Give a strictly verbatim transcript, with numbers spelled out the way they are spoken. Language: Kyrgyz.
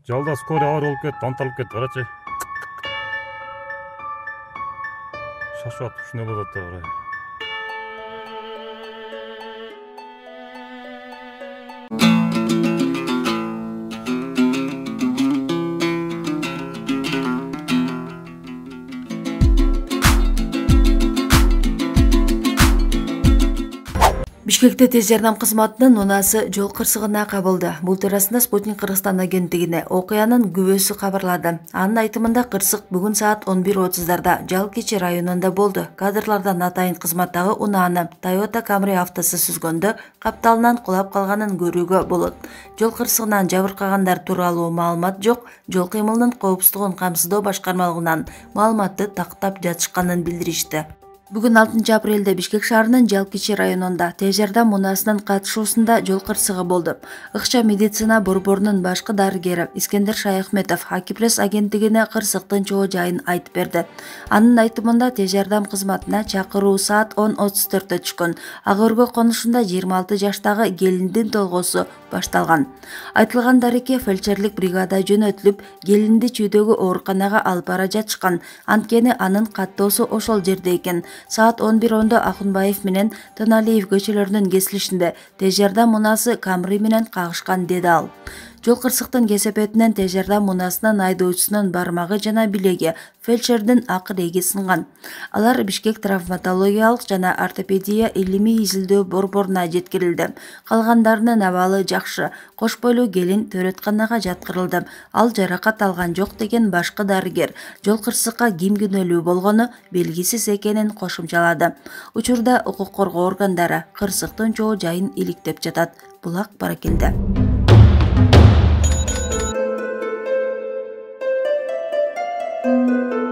Жалда скорый оор болуп кетти, анталып кетти, карачы. Шашып атып ушундай болуп атты, карай. Бишкекте тез жардам кызматынын унаасы жол кырсыгына кабылды. Бул туурасында Спутник Кыргызстан агенттигине окуянын күбөсү кабарлады. Анын айтымында кырсык бүгүн саат он бир отуздарда Жалкичи районунда болду. Кадрлардан атайын кызматтагы унааны Toyota Camry автосу сүзгөндө капталынан кулап калганын көрүүгө болот. Жол кырсыгынан жабыркагандар тууралуу маалымат жок. Жол кыймылынын коопсуздугун камсыздоо башкармалыгынан маалыматты тактап жатышканын билдиришти. Бүгүн алтынчы апрелде Бишкек шаарынын Жалкичи районунда тез жардам унаасынын катышуусунда жол кырсыгы болду. Ыкча медицина борборунун башкы дарыгери Искендер Шаяхметов Акипресс агенттигине кырсыктын чоо жайын айтып берди. Анын айтымында тез жардам кызматына чакыруу саат он отуз төрттө түшкөн. Ак өргө конушунда жыйырма алты жаштагы келиндин толгоосу башталган. Айтылган дареке фельдшерлик бригада жөнөтүлүп, келинди чүйдөгү ооруканага алып бара жатышкан. Анткени анын каттоосу ошол жерде экен. Саат он бир ондо Акунбаев менен Тоналиев көчөлөрүнүн кесилишинде тез жардам унаасы Camry менен кагышкан, деди ал. Жол кырсыктын кесепетинен тез жардам унаасынын айдоочусунун бармагы жана билеги, фельдшердин акыреги сынган. Алар Бишкек травматологиялык жана ортопедия илимий изилдөө борборуна жеткирилди. Калгандарынын абалы жакшы. Кош бойлуу келин төрөтканага жаткырылды. Ал жаракат алган жок, деген башкы дарыгер. Жол кырсыкка ким күнөөлүү болгону белгисиз экенин кошумчалады. Учурда укук коргоо органдары кырсыктын чоо жайын иликтеп жатат. Булак Баракелде. Thank you.